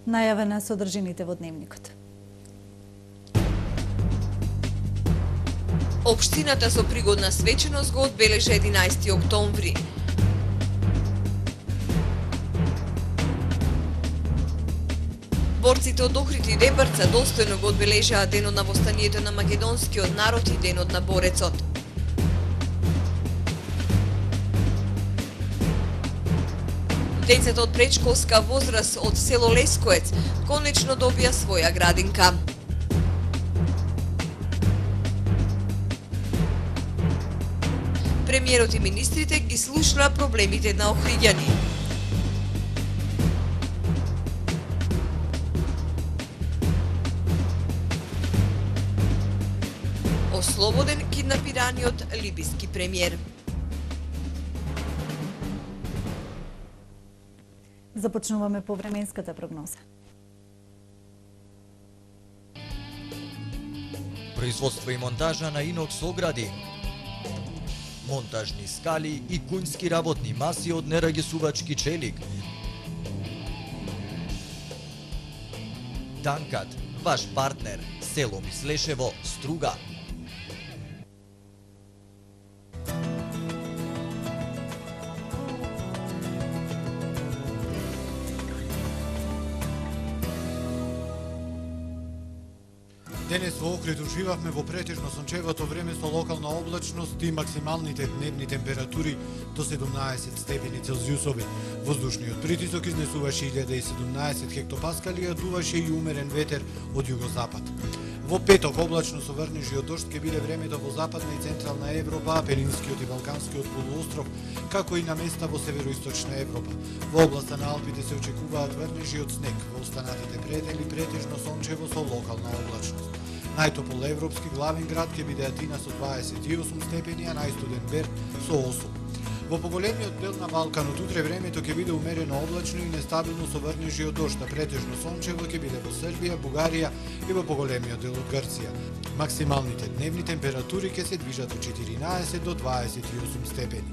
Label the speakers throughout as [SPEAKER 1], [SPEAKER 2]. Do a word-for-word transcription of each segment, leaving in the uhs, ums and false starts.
[SPEAKER 1] Најава на содржините во дневникот.
[SPEAKER 2] Општината со пригодна свеченост го одбележа единаесети октомври. Борците од Охрид и Дебарца достојно го одбележаа денот на востанието на македонскиот народ и денот на борецот. Децата од предшколска возраст од село Лескоец конечно добија своја градинка. Премиерот и министрите ги слушнаа проблемите на охриѓани. Ослободен киднапираниот либиски премиер.
[SPEAKER 1] Започнуваме по временската прогноза.
[SPEAKER 3] Производство и монтажа на инокс огради, монтажни скали и кунски работни маси од нерагесувачки челик. Данкат, ваш партнер, село Мислешево, Струга.
[SPEAKER 4] Денес во Охрид уживавме во претежно сончевото време со локална облачност и максималните дневни температури до седумнаесет степени Целзиусови. Воздушниот притисок изнесуваше илјада и седумнаесет хектопаскали, а дуваше и умерен ветер од југозапад. Во петок облачно со врнежи од дожд ќе биде времето во западна и централна Европа, Пенинскиот и Балканскиот полуостров, како и на места во североисточна Европа. Во областа на Алпите се очекуваат врнежи од снег, во останатите предели претежно сончево со локална облачност. Најтопол европски главен град ќе биде Атина со дваесет и осум степени, а најстуден Берн со осум. Во поголемиот дел на Балканот утре времето ќе биде умерено облачно и нестабилно со врнежи од дожд, а претежно сончево ќе биде во Србија, Бугарија и во поголемиот дел од Грција. Максималните дневни температури ќе се движат од четиринаесет до дваесет и осум степени.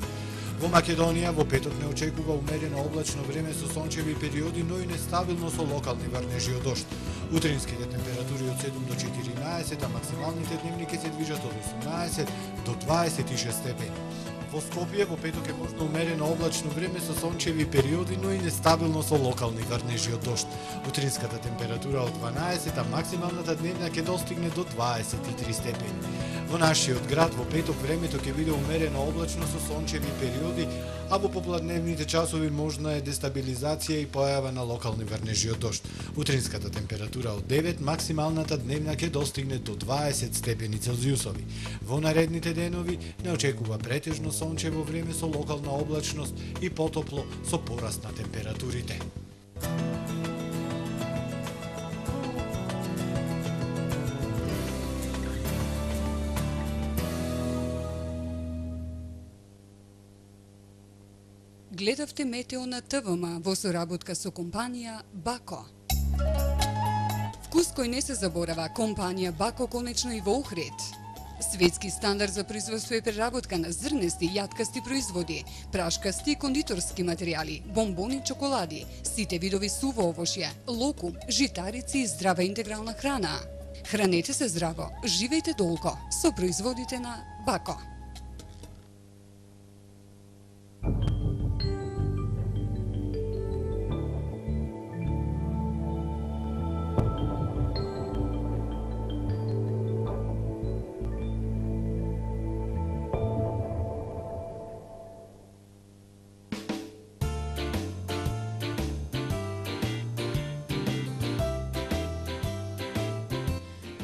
[SPEAKER 4] Во Македонија во петок не очекува умерено облачно време со сончеви периоди, но и нестабилно со локални врнежи од дожд. Утринските температури од седум до четиринаесет, а максималните дневни ќе се движат од осумнаесет до дваесет и шест степени. Во Скопје во петок е можно умерено облачно време со сончеви периоди, но и нестабилно со локални врнежи од дожд. Утринската температура од дванаесет, а максималната дневна ќе достигне до дваесет и три степени. Во нашиот град во петок времето ќе биде умерено облачно со сончеви периоди, а во попладневните часови можна е дестабилизација и појава на локални врнежи од дожд. Утринската температура од девет, максималната дневна ќе достигне до дваесет степени Целзиусови. Во наредните денови не очекува претежно сончево време со локална облачност и потопло со пораст на температурите.
[SPEAKER 5] Гледавте Метео на ТВМ во соработка со компанија Бако. Вкус кој не се заборава, компанија Бако конечно и во Охрид. Светски стандард за производство и преработка на зрнести, јаткасти производи, прашкасти и кондиторски материјали, бомбони, чоколади, сите видови суво овошје, локум, житарици и здрава интегрална храна. Хранете се здраво, живејте долго со производите на Бако.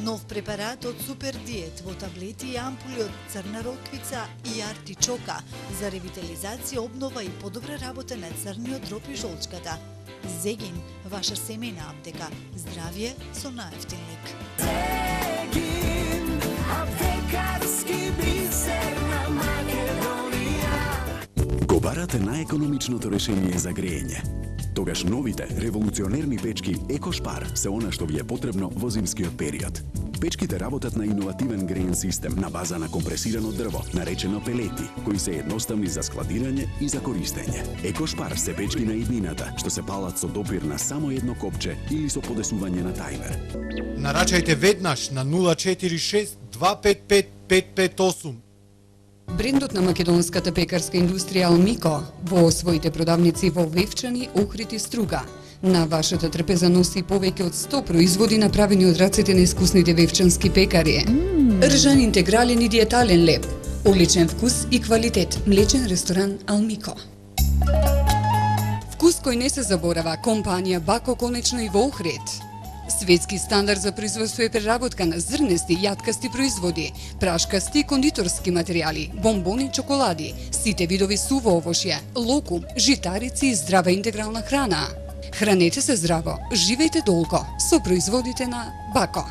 [SPEAKER 6] Нов препарат од Супер Диет во таблети и ампули од црна роквица и артичока за ревитализација, обнова и подобра работа на црниот дроб и жолчката. Зегин, ваша семејна аптека. Здравје со наевтин лек.
[SPEAKER 7] Зегин, аптекарски бисер на Македонија. Барате најекономичното решение за грејење. Тогаш новите револуционерни печки Екошпар се она што ви е потребно во зимскиот период. Печките работат на иновативен греен систем на база на компресирано дрво, наречено пелети, кои се едноставни за складирање и за користење. Екошпар се печки на иднината, што се палат со допир на само едно копче или со подесување на тајмер.
[SPEAKER 4] Нарачајте веднаш на нула четири шест два пет пет пет пет осум.
[SPEAKER 5] Брендот на македонската пекарска индустрија Алмико во своите продавници во Вевчани, Охрид и Струга. На вашата трпеза носи повеќе од сто производи направени од рацете на искусните вевчански пекари. Mm. Ржан интегрален и диетален леб, одличен вкус и квалитет, млечен ресторан Алмико. Вкус кој не се заборава, компанија Бако конечно и во Охрид. Светски стандард за производство и преработка на зрнести, јаткасти производи, прашкасти и кондиторски материјали, бомбони, чоколади, сите видови суво овошје, локум, житарици и здрава интегрална храна. Хранете се здраво, живејте долго со производите на Бако.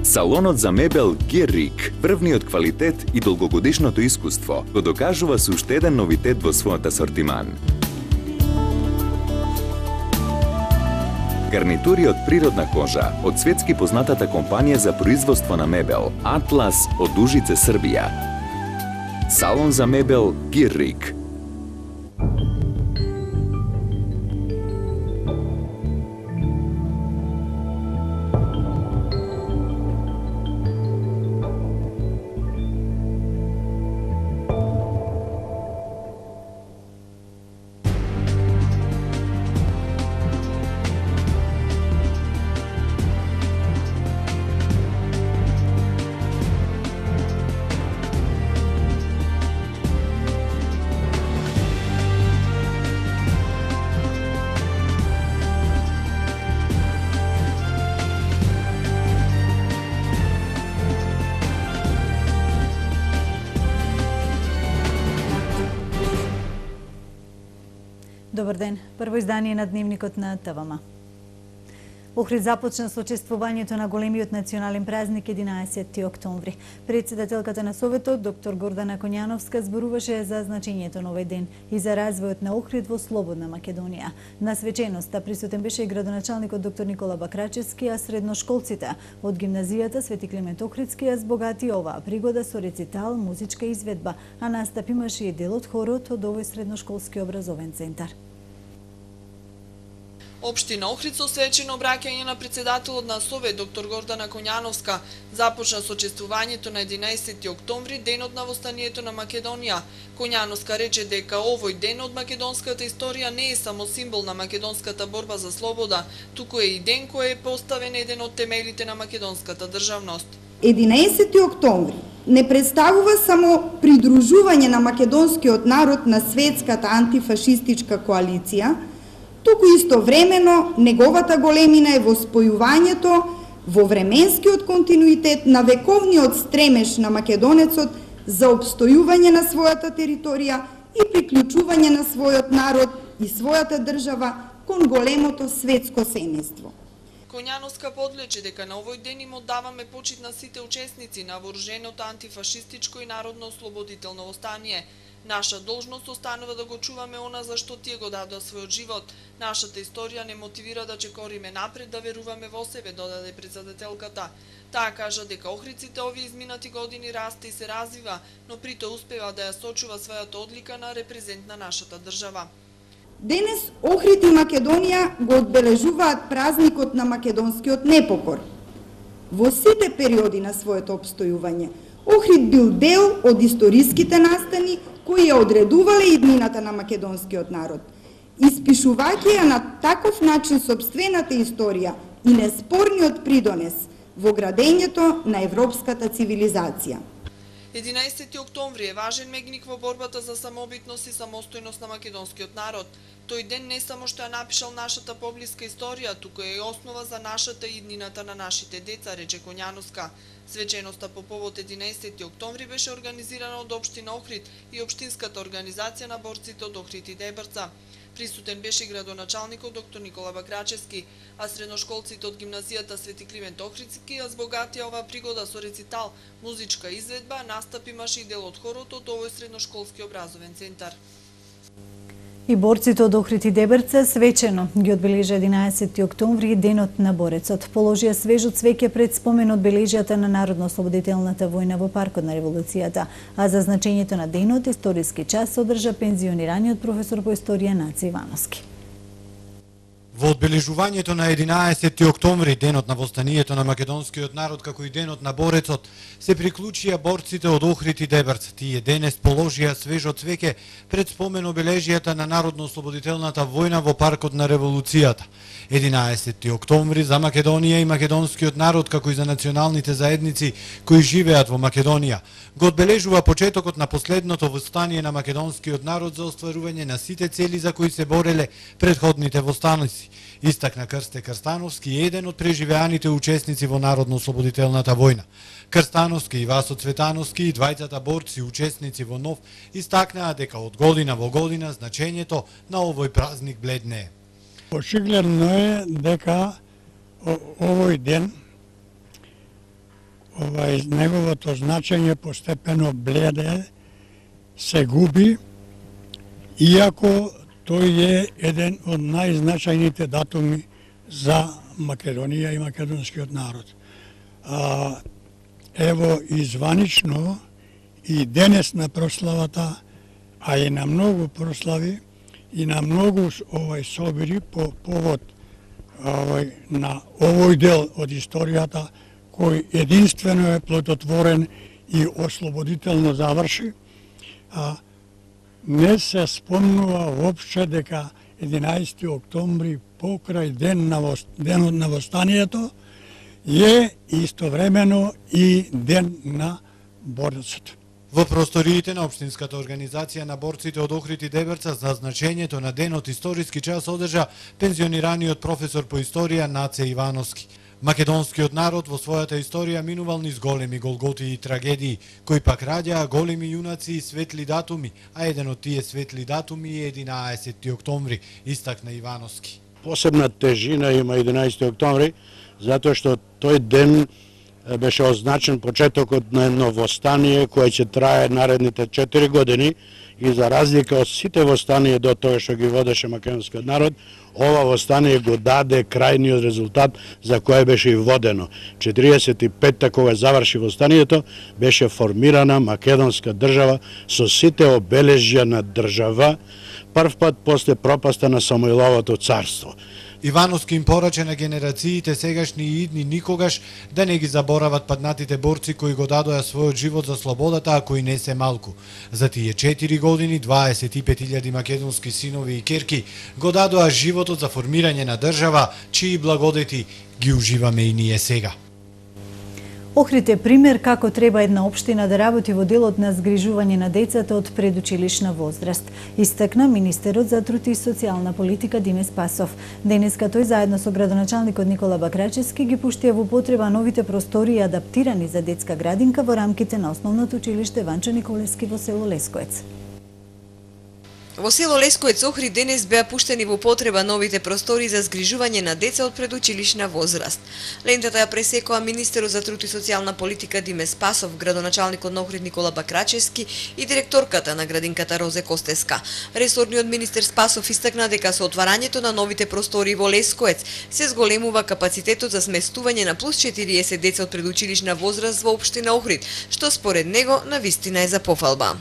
[SPEAKER 8] Салонот за мебел Геррик, врвниот квалитет и долгогодишното искуство, го докажува со уште еден новитет во својот асортиман. Гарнитури од природна кожа од светски познатата компанија за производство на мебел Атлас од Ужице, Србија. Салон за мебел Геррик.
[SPEAKER 1] Добар ден. Прво издание на дневникот на ТВМ. Охрид започна со чествувањето на големиот национален празник единаесети октомври. Председателката на Советот, доктор Гордана Коњановска, зборуваше за значењето на овој ден и за развојот на Охрид во слободна Македонија. На свеченоста присутен беше и градоначалникот доктор Никола Бакрачевски, а средношколците од гимназијата Свети Климент Охридски ја збогати оваа пригода со рецитал, музичка изведба, а настап имаше и дел од хорот од овој средношколски образовен центар.
[SPEAKER 9] Општина Охрид со свечено обраќање на председателот на Совет доктор Гордана Коњановска започна со чествувањето на единаесети октомври, денот на востанието на Македонија. Коњановска рече дека овој ден од македонската историја не е само символ на македонската борба за слобода, туку е и ден кој е поставен еден од темелите на македонската државност.
[SPEAKER 10] единаесети октомври не представува само придружување на македонскиот народ на светската антифашистичка коалиција, туку истовремено неговата големина е во спојувањето во временскиот континуитет на вековниот стремеж на македонецот за обстојување на својата територија и приклучување на својот народ и својата држава кон големото светско семејство.
[SPEAKER 9] Коњановска подлече дека на овој ден им оддаваме почит на сите учесници на вооруженото антифашистичко и народно ослободително востание. Наша должност останува да го чуваме она за што тие го дадоа својот живот. Нашата историја не мотивира да чекориме напред, да веруваме во себе, додаде председателката. Таа кажа дека Охридците овие изминати години расте и се развива, но при тоа успева да ја сочува својата одлика на репрезент на нашата држава.
[SPEAKER 10] Денес Охрид и Македонија го одбележуваат празникот на македонскиот непокор. Во сите периоди на своето обстојување, Охрид бил дел од историските настани кои ја одредувале иднината на македонскиот народ. Испишувајќи ја на таков начин сопствената историја и неспорниот придонес во градењето на европската цивилизација.
[SPEAKER 9] единаесети октомври е важен мегник во борбата за самобитност и самостојност на македонскиот народ. Тој ден не само што ја напишал нашата поблиска историја, туку е и основа за нашата иднината на нашите деца, рече Коњановска. Свеченоста по повод единаесети октомври беше организирана од општина Охрид и општинската организација на борците од Охрид и Дебрца. Присутен беше градоначалникот доктор Никола Бакрачевски, а средношколците од гимназијата Свети Кливент Охридски ја збогатија оваа пригода со рецитал, музичка изведба, настап имаше и дел од хорот од овој средношколски образовен центар.
[SPEAKER 1] И борците од Охрид и Дебрце свечено ги одбележа единаесети октомври денот на борецот. Положија свежо цвеќе пред спомен одбележјата на Народно-ослободителната војна во паркот на револуцијата, а за значењето на денот историски час одржа пензионираниот професор по историја Наце Ивановски.
[SPEAKER 4] Во одбележувањето на единаесети октомври, денот на востанието на македонскиот народ како и денот на борецот, се приклучија борците од Охрид и Дебрц. Тие денес положија свежо цвеќе пред спомен обележјата на Народно-ослободителната војна во паркот на револуцијата. единаесети октомври за Македонија и македонскиот народ како и за националните заедници кои живеат во Македонија го одбележува почетокот на последното востание на македонскиот народ за остварување на сите цели за кои се бореле предходните востаници. Истакна Крсте Крстановски, еден од преживеаните учесници во Народно-ослободителната војна. Крстановски и Васо Цветановски и двајцата борци учесници во НОВ истакнаа дека од година во година значењето на овој празник бледнее.
[SPEAKER 11] Очигледно е дека овој ден, овај неговото значење постепено бледе, се губи, иако тој е еден од најзначајните датуми за Македонија и македонскиот народ. А, ево изванично и денес на прославата, а и на многу прослави, и на многу овој собири по повод овој, на овој дел од историјата кој единствено е плодотворен и ослободително заврши, а, не се спомнува воопште дека единаесети октомври покрај ден на вос... денот на востанието е истовремено и ден на борецот.
[SPEAKER 4] Во просториите на Општинската организација на борците од Охрид и Дебрца за значењето на денот историски час одржа пензионираниот професор по историја Наце Ивановски. Македонскиот народ во својата историја минувал низ големи голготи и трагедии, кои пак раѓаа големи јунаци и светли датуми, а еден од тие светли датуми е единаесети октомври, истакна Ивановски.
[SPEAKER 12] Посебна тежина има единаесети октомври, затоа што тој ден беше означен почетокот на едно востание кое ќе трае наредните четири години и за разлика од сите востанија до тоа што ги водеше македонскиот народ, ова востание го даде крајниот резултат за кој беше и водено. четириесет и петта кога заврши востанието, беше формирана македонска држава со сите обележја на држава, прв пат после пропаста на Самоиловото царство.
[SPEAKER 4] Ивановски им порача на генерациите сегашни и идни никогаш да не ги заборават паднатите борци кои го дадоа својот живот за слободата, а кои не се малку. За тие четири години дваесет и пет илјади македонски синови и керки го дадоа животот за формирање на држава, чии благодети ги уживаме и ние сега.
[SPEAKER 1] Охрид е пример како треба една општина да работи во делот на згрижување на децата од предучилишна возраст, истакна министерот за труд и социјална политика Диме Спасов. Денеска тој заедно со градоначалникот Никола Бакрачевски ги пуштија во потреба новите простории адаптирани за детска градинка во рамките на основното училиште Ванчо Николевски во село Лескоец.
[SPEAKER 2] Во село Лескоец Охрид денес беа пуштени во потреба новите простори за згрижување на деца од предучилишна возраст. Лентата ја пресекоа министерот за труд и социјална политика Диме Спасов, градоначалникот на Охрид Никола Бакрачевски и директорката на градинката Розе Костеска. Ресорниот министер Спасов истакна дека со отварањето на новите простори во Лескоец се зголемува капацитетот за сместување на плюс четириесет деца од предучилишна возраст во општина Охрид, што според него навистина е за пофалба.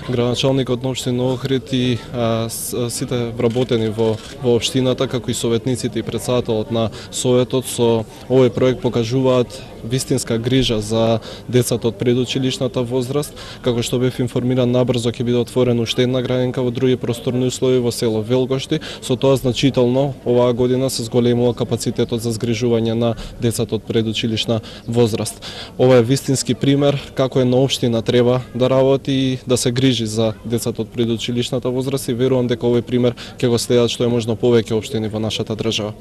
[SPEAKER 13] Градоначалникот на општина Охрид и а, сите вработени во, во општината, како и советниците и претседателот на советот со овој проект покажуваат вистинска грижа за децата од предучилишната возраст, како што бев информиран набрзо ќе биде отворена уште една градинка во други просторни услови во село Велгошти, со тоа значително оваа година се зголемува капацитетот за згрижување на децата од предучилишна возраст. Ова е вистински пример како една општина треба да работи и да се грижи за децата од предучилишната возраст и верувам дека овој пример ќе го следат што е можно повеќе општини во нашата држава.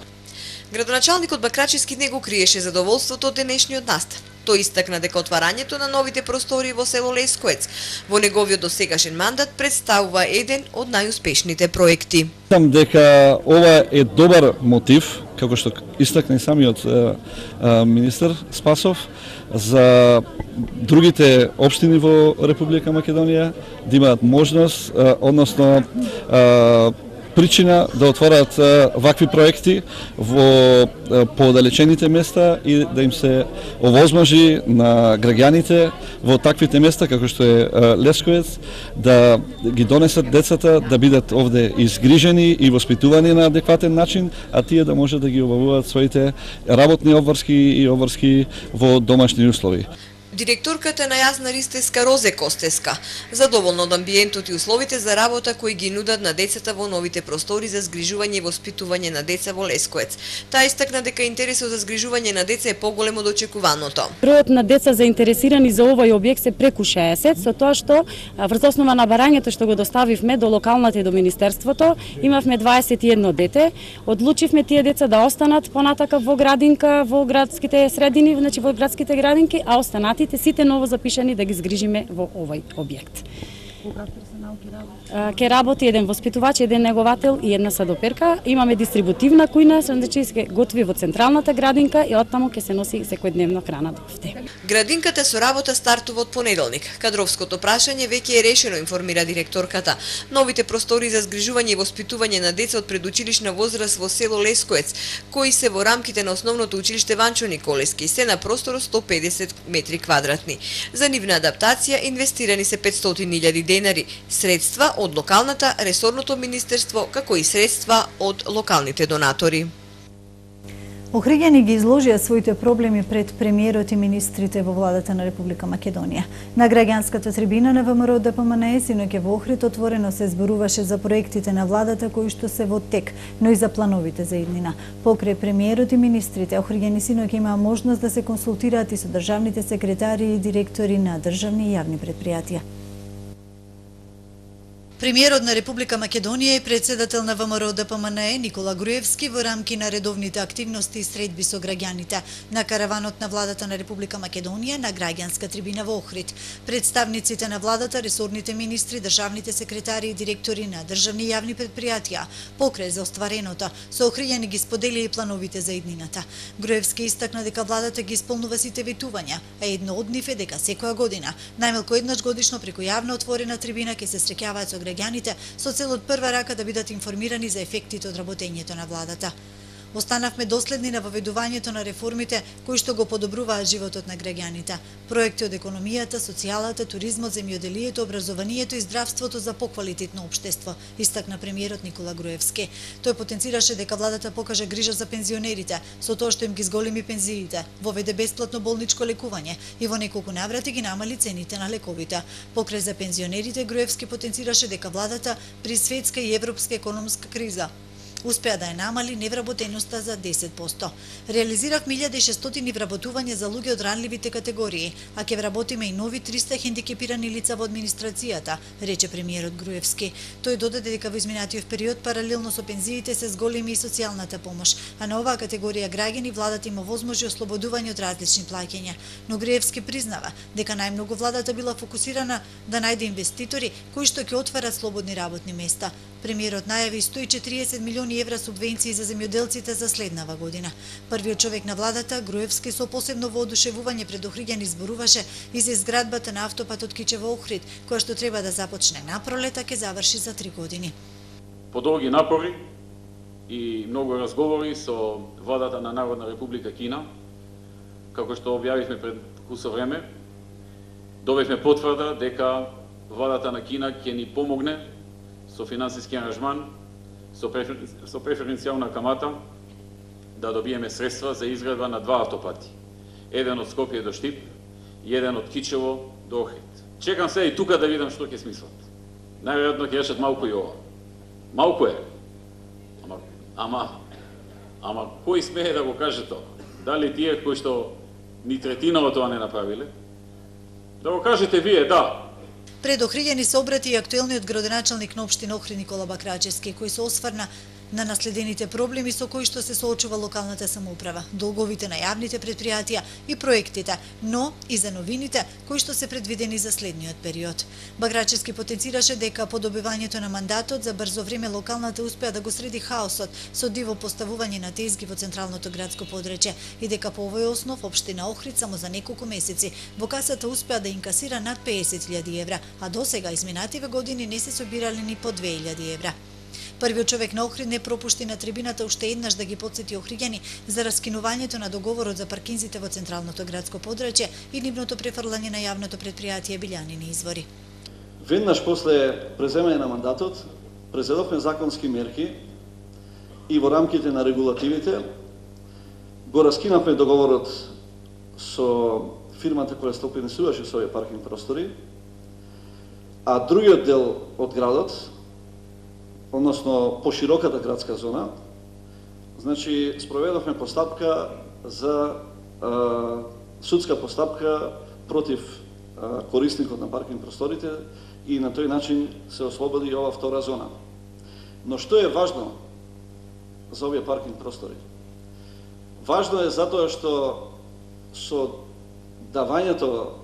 [SPEAKER 2] Градоначалникот Бакрачевски не го криеше задоволството од денешниот настан. Тој истакна дека отварањето на новите простори во село Лескоец во неговиот досегашен мандат представува еден од најуспешните проекти.
[SPEAKER 14] Мислам дека ова е добар мотив, како што истакна и самиот е, е, министер Спасов, за другите општини во Република Македонија да имаат можност, е, односно е, причина да отворат е, вакви проекти во е, поодалечените места и да им се овозможи на граѓаните во таквите места како што е е Лесковец да ги донесат децата да бидат овде изгрижени и воспитувани на адекватен начин, а тие да може да ги обавуваат своите работни обврски и обврски во домашни услови.
[SPEAKER 2] Директорката на Јазна Ристеска Розе Костеска задоволна од амбиентот и условите за работа кои ги нудат на децата во новите простори за згрижување и воспитување на деца во Лескоец. Таа истакна дека интересот за згрижување на деца е поголем од очекуваното.
[SPEAKER 15] Бројот на деца заинтересирани за овој објект се преку шеесет, со тоа што врз основа на барањето што го доставивме до локалната и до министерството, имавме дваесет и едно дете. Одлучивме тие деца да останат понатака во градинка, во градските средини, значи во градските градинки, а останати сите ново запишани да ги згрижиме во овој објект. Ке работи еден воспитувач, еден неговател и една садоперка. Имаме дистрибутивна кујна, значи се готви во централната градинка и оттаму ќе се носи секојдневно храна до овде.
[SPEAKER 2] Градинката со работа стартува од понеделник. Кадровското прашање веќе е решено, информира директорката. Новите простори за згрижување и воспитување на деца од предучилишна возраст во село Лескоец, кои се во рамките на основното училиште Ванчо Николески, се на простор сто педесет метри квадратни. За нивна адаптација инвестирани се петстотини илјади денари, средства од локалната, ресорното министерство, како и средства од локалните донатори.
[SPEAKER 1] Охриѓани ги изложија своите проблеми пред премиерот и министрите во владата на Република Македонија. На граѓанската трибина на ВМРО Д П М Н Е синоќ во Охрид отворено се зборуваше за проектите на владата кои што се во тек, но и за плановите за иднина. Покрај премиерот и министрите, охриѓани синоќ имаа можност да се консултираат и со државните секретари и директори на државни и јавни претпријатија.
[SPEAKER 6] Премиерот на Република Македонија и председател на ВМРО Д П М Н Е Никола Груевски во рамки на редовните активности и средби со граѓаните на караванот на владата на Република Македонија на граѓанска трибина во Охрид. Представниците на владата, ресорните министри, државните секретари и директори на државни и јавни претпријатија покрај за оствареното со охриѓани ги споделија и плановите за иднината. Груевски истакна дека владата ги исполнува сите ветувања, а едно од нив е дека секоја година, најмалку еднаш годишно преку јавна отворена трибина ќе се среќаваат со граѓаните со цел од прва рака да бидат информирани за ефектите од работењето на владата. Останавме доследни на воведувањето на реформите кои што го подобруваат животот на граѓаните. Проекти од економијата, социјалата, туризмот, земјоделието, образованието и здравството за поквалитетно општество, истакна премиерот Никола Груевски. Тој потенцираше дека владата покажа грижа за пензионерите, со тоа што им ги зголеми пензиите, воведе бесплатно болничко лекување и во неколку наврати ги намали цените на лековите. Покрај за пензионерите, Груевски потенцираше дека владата при светска и европска економска криза успеа да ја намали невработеноста за десет проценти. Реализиравме илјада и шестстотини вработувања за луѓе од ранливите категории, а ќе вработиме и нови триста хендикепирани лица во администрацијата, рече премиерот Груевски. Тој додаде дека во изминатиот период паралелно со пензиите се зголеми и социјалната помош, а на оваа категорија граѓани владата има возможи ослободување од различни плаќања. Но Груевски признава дека најмногу владата била фокусирана да најде инвеститори кои што ќе отварат слободни работни места. Премиерот најави сто и четириесет милиони евра субвенции за земјоделците за следнава година. Првиот човек на владата, Груевски, со посебно воодушевување пред охриѓани зборуваше и за изградбата на автопатот Кичево-Охрид, која што треба да започне на пролета, ќе заврши за три години.
[SPEAKER 16] По долги напори и многу разговори со владата на Народна Република Кина, како што објавивме пред кусо време, добивме потврда дека владата на Кина ќе ни помогне со финансиски аранжман, со, префер... со преференцијална камата, да добиеме средства за изградба на два автопати. Еден од Скопје до Штип и еден од Кичево до Охрид. Чекам се и тука да видам што ќе смислат. Најверојатно ќе решат малку и ова. Малку е. Ама, ама, ама кој смее да го каже тоа? Дали тие кои што ни третина од тоа не направиле? Да го кажете вие, да.
[SPEAKER 6] Пред охриѓани се обрати и актуелниот градоначалник на општина Охрид Никола Бакрачевски, кој се осврна на наследените проблеми со кои што се соочува локалната самоуправа, долговите на јавните предпријатија и проектите, но и за новините кои што се предвидени за следниот период. Баграчевски потенцираше дека по добивањето на мандатот за брзо време локалната успеа да го среди хаосот со диво поставување на тезги во централното градско подречје и дека по овој основ општина Охрид само за неколку месеци во касата успеа да инкасира над песет илјади евра, а досега изминативе години не се собирале ни по две илјади евра. Првиот човек на Охрид не пропушти на трибината уште еднаш да ги потсети охриѓани за раскинувањето на договорот за паркинзите во централното градско подрачје и нивното префрлање на јавното предпријатие Билјанини извори.
[SPEAKER 17] Веднаш после преземање на мандатот, презедовме законски мерки и во рамките на регулативите го раскинавме договорот со фирмата која стопинисуваше со овие паркинг простори, а другиот дел од градот, односно пошироката градска зона, значи спроведовме постапка за а, судска постапка против а, корисникот на паркинг просторите и на тој начин се ослободи ова втора зона. Но што е важно за овие паркинг простори? Важно е затоа што со давањето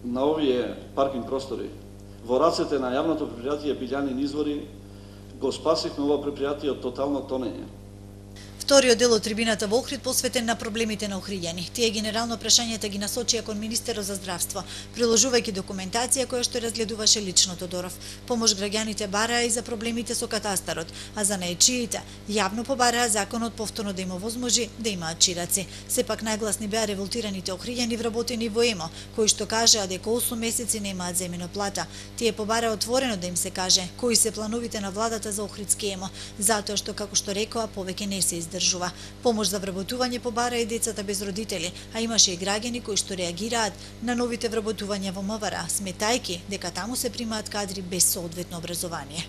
[SPEAKER 17] на овие паркинг простори во рацете на јавното предпријатие Билјанини извори го спасивме ова предпријатие од тотално тонење.
[SPEAKER 6] Вториот дел од трибината во Охрид посветен на проблемите на охриѓани. Тие генерално прашањата ги насочија кон министерот за здравство, приложувајќи документација која што разгледуваше лично Тодоров. Помош граѓаните бараа и за проблемите со катастарот, а за наечиите јавно побараа законот повторно да им овозможи да имаат чираци. Сепак најгласни беа револтираните охриѓани вработени во ЕМО, кои што кажаа дека осум месеци немаат земено плата. Тие побараа отворено да им се каже кои се плановите на владата за Охридски ЕМО, затоа што како што рекоа повеќе не се издржува. Помош за вработување побара и децата без родители, а имаше и граѓани кои што реагираат на новите вработувања во МВР, сметајки дека таму се примаат кадри без соодветно образование.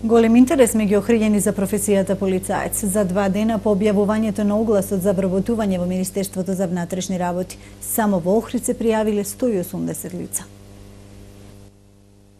[SPEAKER 1] Голем интерес меѓу охриѓани за професијата полицаец. За два дена по објавувањето на огласот за вработување во Министерството за внатрешни работи, само во Охрид се пријавиле сто и осумдесет лица.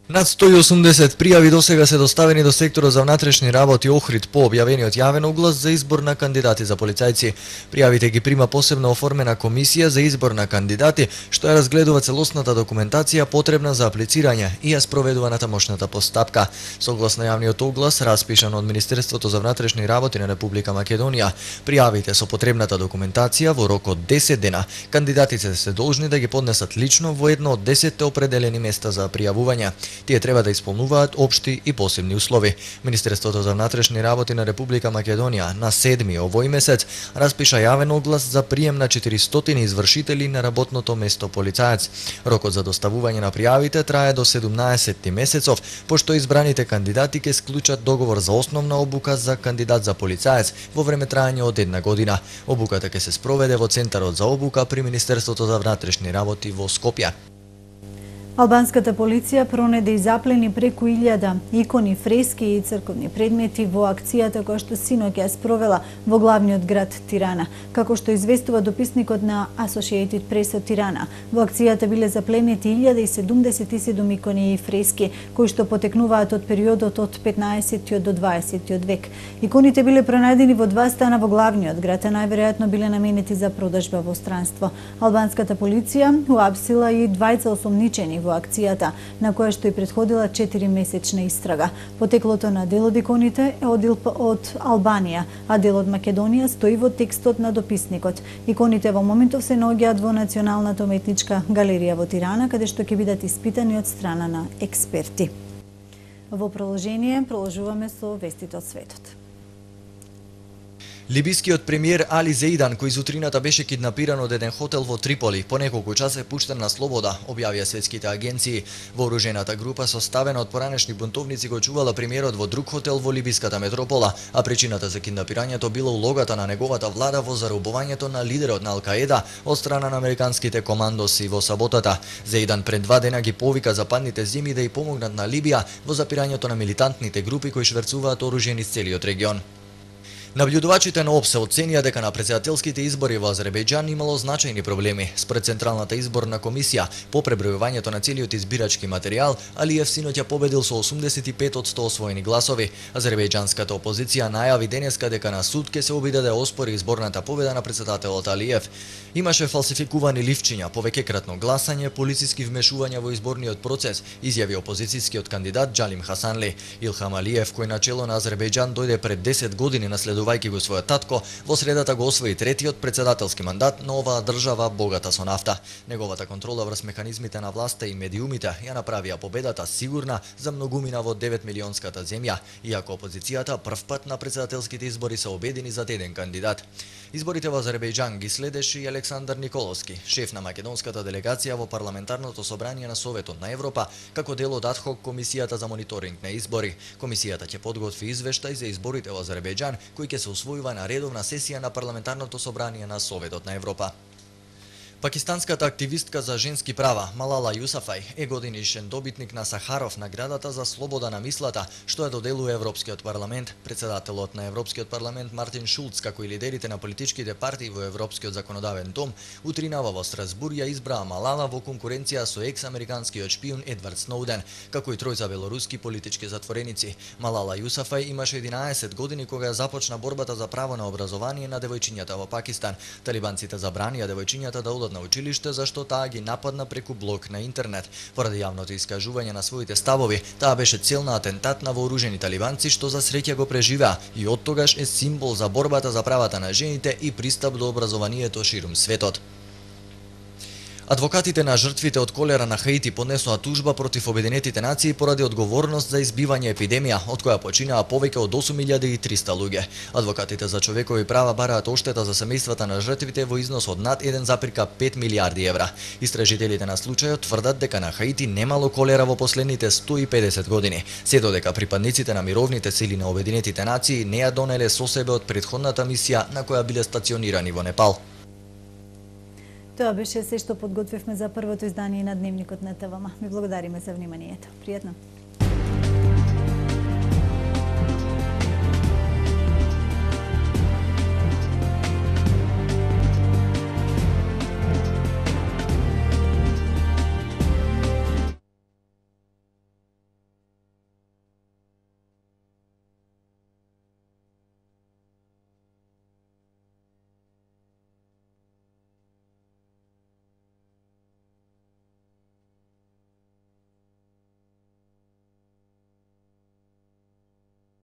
[SPEAKER 3] Над сто и осумдесет пријави досега се доставени до секторот за внатрешни работи Охрид по објавениот јавен оглас за избор на кандидати за полицајци. Пријавите ги прима посебно оформена комисија за избор на кандидати, што ја разгледува целосната документација потребна за аплицирање и ја спроведува натамошната постапка. Согласно јавниот оглас, распишан од Министерството за внатрешни работи на Република Македонија, пријавите со потребната документација во рок од десет дена, кандидатите се должни да ги поднесат лично во едно од десетте определени места за пријавување. Тие треба да исполнуваат општи и посебни услови. Министерството за внатрешни работи на Република Македонија на седми овој месец распиша јавен оглас за прием на четиристотини извршители на работното место полицаец. Рокот за доставување на пријавите трае до седумнаесетти месецов, пошто избраните кандидати ќе склучат договор за основна обука за кандидат за полицаец во време траење од една година. Обуката ќе се спроведе во Центарот за обука при Министерството за внатрешни работи во Скопје.
[SPEAKER 1] Албанската полиција пронеде и заплени преку илјада икони, фрески и црковни предмети во акцијата која што синоќ ја спровела во главниот град Тирана. Како што известува дописникот на Associated Press од Тирана, во акцијата биле запленети илјада седумдесет и седум икони и фрески кои што потекнуваат од периодот од петнаесеттиот до дваесеттиот век. Иконите биле пронајдени во два стана во главниот град, а најверојатно биле наменети за продажба во странство. Албанската полиција уапсила и двајца осомничени во акцијата, на која што и претходила четиримесечна истрага. Потеклото на дел од иконите е од, од Албанија, а дел од Македонија стои во текстот на дописникот. Иконите во моментов се наоѓаат во Националната уметничка галерија во Тирана, каде што ќе бидат испитани од страна на експерти. Во продолжение продолжуваме со вестите од светот.
[SPEAKER 3] Либискиот премиер Али Зејдан, кој зутрината беше киднапиран од еден хотел во Триполи, по неколку часа е пуштен на слобода, објавија светските агенции. Вооружената група составена од поранешни бунтовници го чувала премиерот во друг хотел во либиската метропола, а причината за киднапирањето била улогата на неговата влада во заробувањето на лидерот на Ал-Каеда од страна на американските командоси во саботата. Зејдан пред два дена ги повика западните зими да и помогнат на Либија во запирањето на милитантните групи кои шверцуваат оружје низ целиот регион. Наблюдувачите на ОПСЕ оценија дека на претседателските избори во Азербејџан имало значајни проблеми. Според Централната изборна комисија, по пребројувањето на целиот избирачки материјал, Алиев синоќа победил со осумдесет и пет од сто освоени гласови. Азербејџанската опозиција најави денеска дека на суд ќе се обиде да оспори изборната победа на претседателот Алиев. Имаше фалсификувани ливчиња, повеќекратно гласање, полициски вмешувања во изборниот процес, изјави опозицијскиот кандидат Џалим Хасанли. Илхам Алиев, кој начело на Азербејџан дојде пред десет години наследувајќи го својот татко, во средата го освои третиот претседателски мандат на оваа држава богата со нафта. Неговата контрола врз механизмите на власта и медиумите ја направија победата сигурна за многумина во девет милионската земја, иако опозицијата првпат на претседателските избори се обедини за еден кандидат. Изборите во Азербејџан ги следеше и Александар Николовски, шеф на македонската делегација во парламентарното собрание на Советот на Европа, како дел од адхок комисијата за мониторинг на избори. Комисијата ќе подготви извештај за изборите во Азербејџан, кој ќе се усвојува на редовна сесија на парламентарното собрание на Советот на Европа. Пакистанската активистка за женски права Малала Јусафај е годинишен добитник на Сахаров наградата за слобода на мислата, што ја доделува Европскиот парламент. Претседателот на Европскиот парламент Мартин Шулц, како и лидерите на политичките партии во Европскиот законодавен дом, утринава во Страсбур ја избраа Малала во конкуренција со екс-американскиот шпион Едвард Сноуден, како и тројца белоруски политички затвореници. Малала Јусафај имаше единаесет години кога ја започна борбата за право на образование на девојчињата во Пакистан. Талибанците забранија девојчињата да одат на училиште зашто таа ги нападна преку блог на интернет. Поради јавното искажување на своите ставови, таа беше цел на атентат на вооружени талибанци што за среќа го преживеа и оттогаш е символ за борбата за правата на жените и пристап до образованието ширум светот. Адвокатите на жртвите од колера на Хаити поднесоа тужба против Обединетите нации поради одговорност за избивање епидемија, од која починаа повеќе од осум илјади и триста луѓе. Адвокатите за човекови права бараат оштета за семејствата на жртвите во износ од над еден запирка пет милијарди евра. Истражителите на случајот тврдат дека на Хаити немало колера во последните сто и педесет години, се додека припадниците на мировните сили на Обединетите нации не ја донеле со себе од претходната мисија на која биле стационирани во Непал.
[SPEAKER 1] Тоа беше се што подготвивме за првото издание на Дневникот на ТВМ. Ви благодариме за вниманието. Пријатно!